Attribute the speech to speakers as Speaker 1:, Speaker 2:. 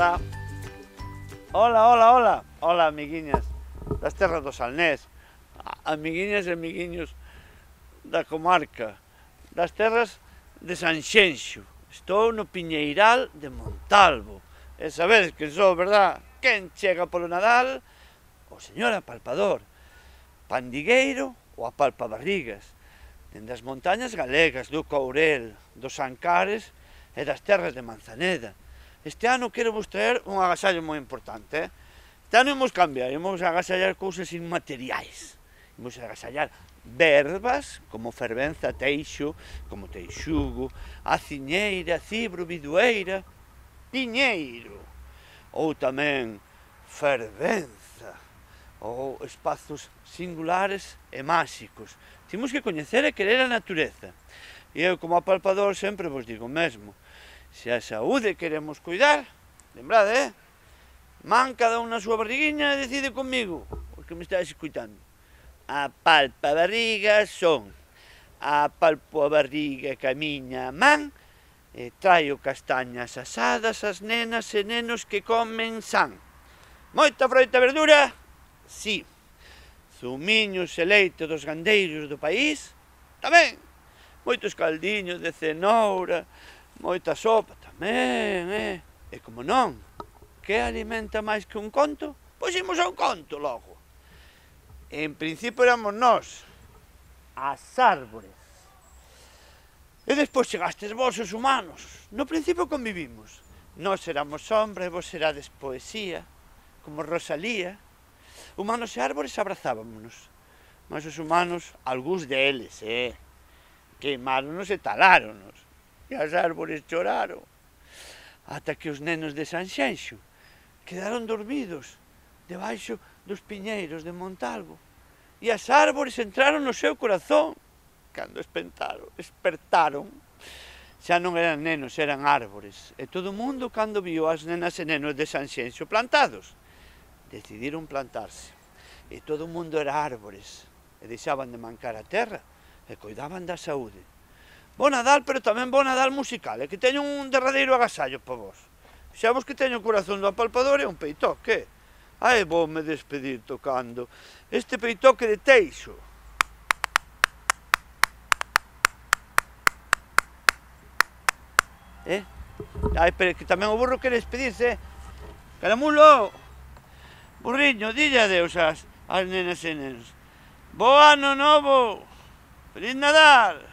Speaker 1: Hola. Hola, hola, hola. Hola, amiguiñas das terras do Salnés. Amiguiñas e amiguiños da comarca, das terras de Sanxenxo. Estou no Piñeiral de Montalvo. E sabedes que sou, verdad? Quen chega polo Nadal? O señor apalpador, pandigueiro ou apalpabarrigas, dende as montañas galegas, do Courel, dos Ancares e das terras de Manzaneda. Este ano quero vos traer un agasallo moi importante. Este ano imos cambiar, imos agasallar cousas inmateriais. Imos agasallar verbas como fervenza, teixo, como teixugo, aciñeira, cibro, bidueira, piñeiro, ou tamén fervenza, ou espazos singulares e máxicos. Temos que coñecer e querer a natureza. E eu, como apalpador, sempre vos digo o mesmo. Se a saúde queremos cuidar, lembrade, man cada un na súa barriguinha e decide comigo, os que me estáis escuitando. Apalpabarrigas son, apalpo a barriga que a miña man, e traio castañas asadas ás nenas e nenos que comen san. Moita froita e verdura? Si. Zumiños e leite dos gandeiros do país? Tamén. Moitos caldiños de cenoura, moita sopa? Tamén, E como non, que alimenta máis que un conto? Pois imos a un conto logo. En principio éramos nós, as árbores. E despois chegastes vos, os humanos. No principio convivimos. Nós éramos sombra e vos serades poesía, como Rosalía. Humanos e árbores abrazábamonos. Mas os humanos, algúns deles, queimáronos e taláronos. E as árbores choraron. Ata que os nenos de Sanxenxo quedaron dormidos debaixo dos piñeiros de Montalvo. E as árbores entraron no seu corazón. Cando espertaron, xa non eran nenos, eran árbores. E todo o mundo, cando viu as nenas e nenos de Sanxenxo plantados, decidiron plantarse. E todo o mundo era árbores. E deixaban de mancar a terra e coidaban da saúde. Bo Nadal, pero tamén bo Nadal musical. E que teño un derradeiro agasallo para vos. Xa vos que teño o corazón do apalpador e un peitoque. Ai, vou me despedir tocando este peitoque de teixo. Ai, pero que tamén o burro quere despedirse. Caramulo, burriño, dille adeus ás nenas e nenos. Bo ano novo, feliz Nadal.